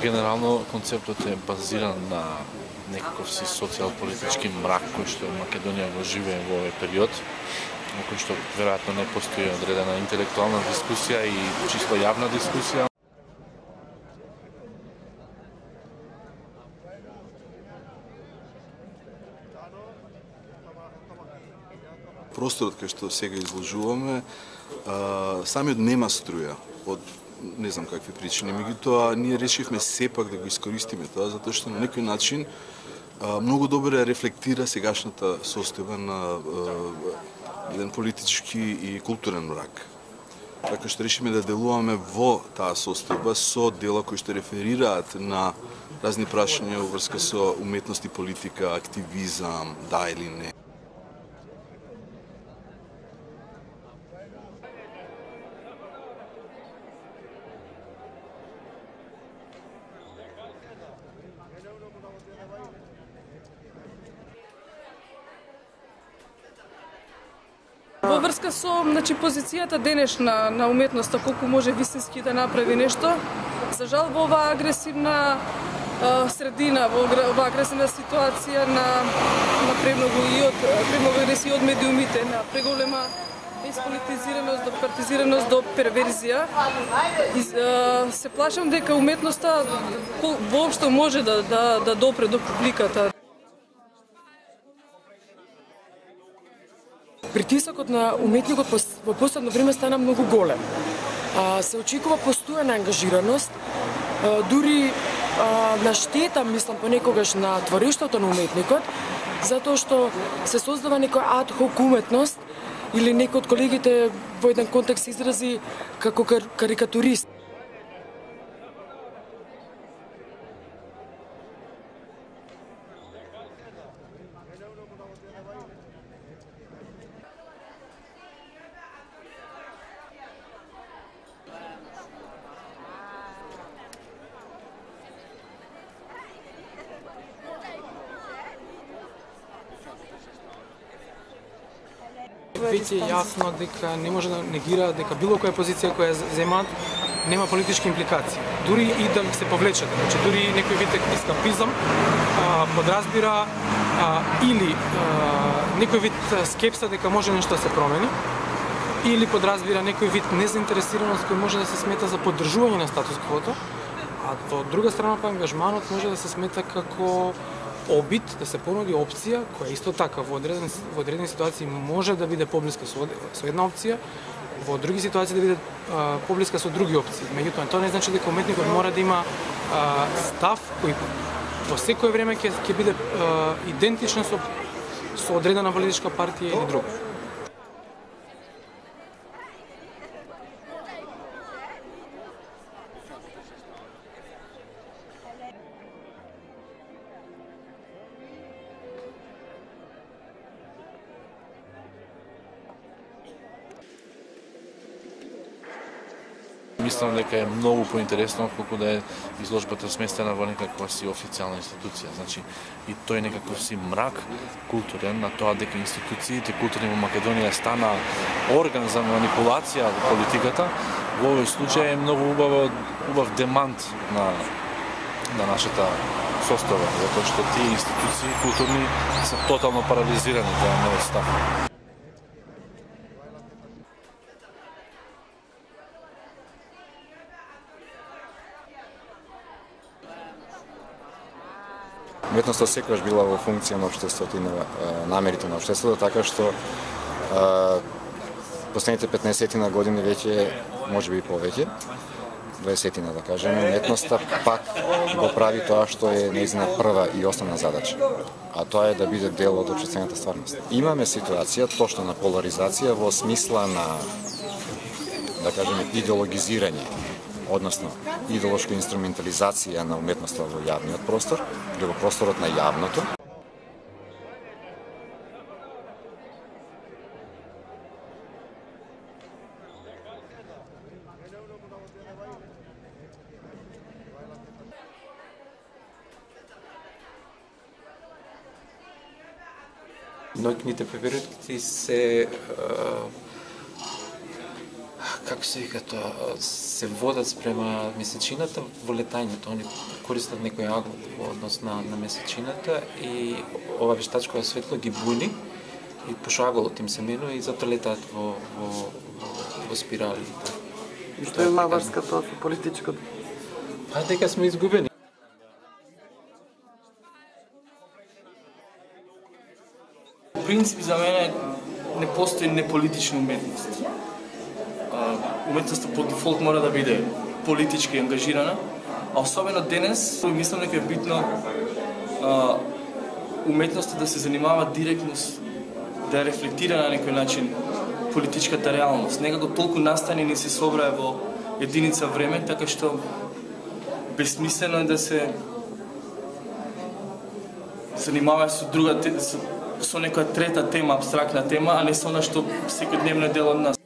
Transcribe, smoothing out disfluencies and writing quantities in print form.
Генерално концептот е базиран на некаков си социјал-политички мрак кој што Македонија го живее во овој период, во кој што веројатно не постои одредена интелектуална дискусија и чисто јавна дискусија. Просторот кај што сега изложуваме, самиот нема струја од не знам какви причини, меѓутоа ние решивме сепак да го искористиме тоа, затоа што на некој начин многу добро рефлектира сегашната состојба на еден политички и културен мрак. Така што решиме да делуваме во таа состојба со дела кои што реферираат на разни прашања во врска со уметност и политика, активизам, да или не. Во врска со позицијата денешна на уметноста, колку може вистински да направи нешто, за жал во оваа агресивна средина, во оваа агресивна ситуација на премногу агресија од медиумите, на преголема исполитизираност, до партизираност, до перверзија. Се плашам дека уметноста воопшто може да допре до публиката. Притисокот на уметникот во последно време стана многу голем. Се очекува постојана ангажираност, дури на штета, мислам, понекогаш на творештвото на уметникот, затоа што се создава некоја ад-хок уметност или некој од колегите во еден контекст изрази како карикатурист. Веќе е јасно дека не може да негира дека било која позиција која земат нема политички импликации. Дури и да се повлечат, значи дури некој вид ескапизам подразбира или некој вид скепса дека може нешто да се промени, или подразбира некој вид незаинтересираност кој може да се смета за поддржување на статус-квото, а од друга страна па ангажманот може да се смета како обид, да се понуди опција која исто така во одредени ситуации може да биде поблиска со една опција, во други ситуации да биде поблиска со други опции. Меѓутоа, тоа не значи дека уметникот мора да има став кој во секое време ќе биде идентичен со одредена политичка партија или друга. Мислам дека е многу поинтересно колку да е изложбата сместена во некаква си официјална институција. Значи, и тој некаков си мрак културен на тоа дека институциите културни во Македонија стана орган за манипулација во политиката, во овој случај е многу убав демант на нашата состојба, затоа што тие институции културни се тотално парализирани, да е мојот став. Уметноста секогаш била во функција на општеството и на намерите на општеството, така што последните 15 на години веќе, можеби и повеќе, 20 да кажеме, уметноста пак го прави тоа што е нејзина прва и основна задача, а тоа е да биде дел од општествената стварност. Имаме ситуација точно на поларизација во смисла на, да кажеме, идеологизирање, односно идеолошка инструментализација на уметноста во јавниот простор или во просторот на јавното. Ноќните пеперутки се како се вика тоа, се водат спрема месечината во летањето. Они користат некој агол во однос на месечината и ова вештачко светло ги буни и пошто аголот им се менува и затоа летаат во спирали. И што има врска тоа со политичкото? Па дека сме изгубени. В принцип за мене не постои неполитична уметност. Уметноста по дефолт мора да биде политички ангажирана, а особено денес мислам дека е битно уметноста да се занимава директно, да рефлектира на некој начин политичката реалност. Некако толку настанени се собрае во единица време, така што безсмислено е да се занимава со друга со некоја трета тема, абстрактна тема, а не со она што секојдневно е дел од нас.